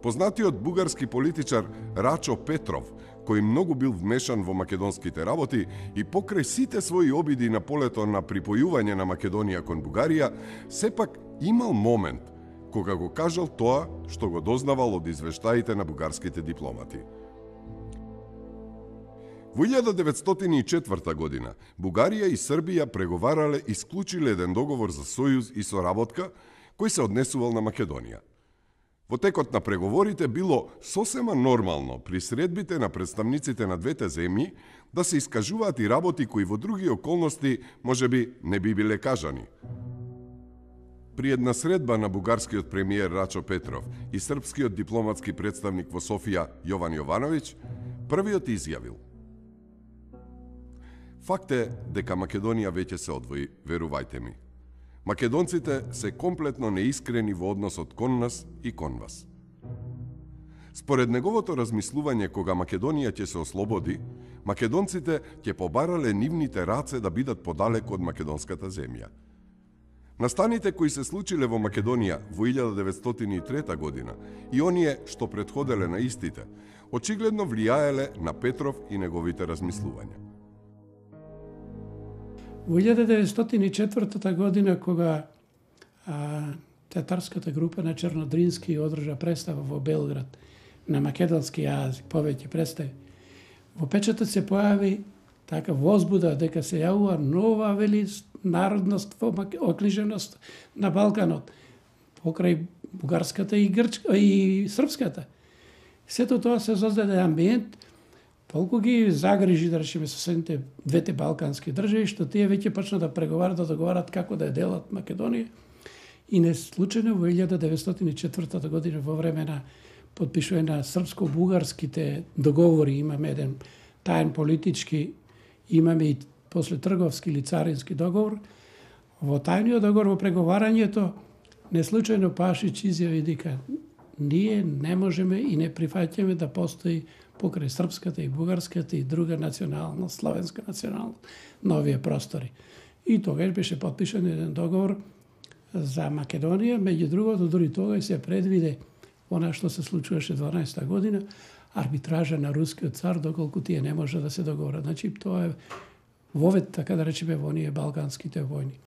Познатиот бугарски политичар Рачо Петров, кој многу бил вмешан во македонските работи и покрај сите своји обиди на полето на припојување на Македонија кон Бугарија, сепак имал момент кога го кажал тоа што го дознавал од извештаите на бугарските дипломати. Во 1904 година Бугарија и Србија преговарале и склучиле еден договор за сојуз и соработка кој се однесувал на Македонија. Во текот на преговорите било сосема нормално при средбите на представниците на двете земји да се искажуваат и работи кои во други околности можеби не би биле кажани. При една средба на бугарскиот премиер Рачо Петров и српскиот дипломатски представник во Софија Јован Јовановиќ, првиот изјавил: "Факт е дека Македонија веќе се одвои, верувајте ми. Македонците се комплетно неискрени во односот кон нас и кон вас." Според неговото размислување, кога Македонија ќе се ослободи, македонците ќе побарале нивните раце да бидат подалеку од македонската земја. Настаните кои се случиле во Македонија во 1903 година и оние што претходеле на истите, очигледно влијаеле на Петров и неговите размислувања. Во 1904 година, кога театарската група на Чернодрински одржа представа во Белград на македонски јазик, повеќе представи, во печатот се појави така возбуда дека се јавува нова народност во окниженост на Балканот, покрај бугарската и српската. Сето тоа се создаде амбиент, толку ги загрижи, да речеме, соседните двете балкански држави, што тие веќе почна да преговарат, да договарат како да ја делат Македонија. И не случајно во 1904 година, во време на подпишување на српско-бугарските договори, имаме еден таен политички, имаме и после трговски или царински договор. Во тајниот договор, во преговарањето, неслучајно Пашич изјави дека ние не можеме и не прифаќаме да постои покрај српската и бугарската и друга националност, славенска националност, на овие простори. И тогаш беше подпишан еден договор за Македонија, меѓу другото, дури тогаш се предвиде она што се случуваше 12-та година, арбитража на рускиот цар, доколку тие не може да се договорат. Значи, тоа е вовед, така да речеме, во оние балканските војни.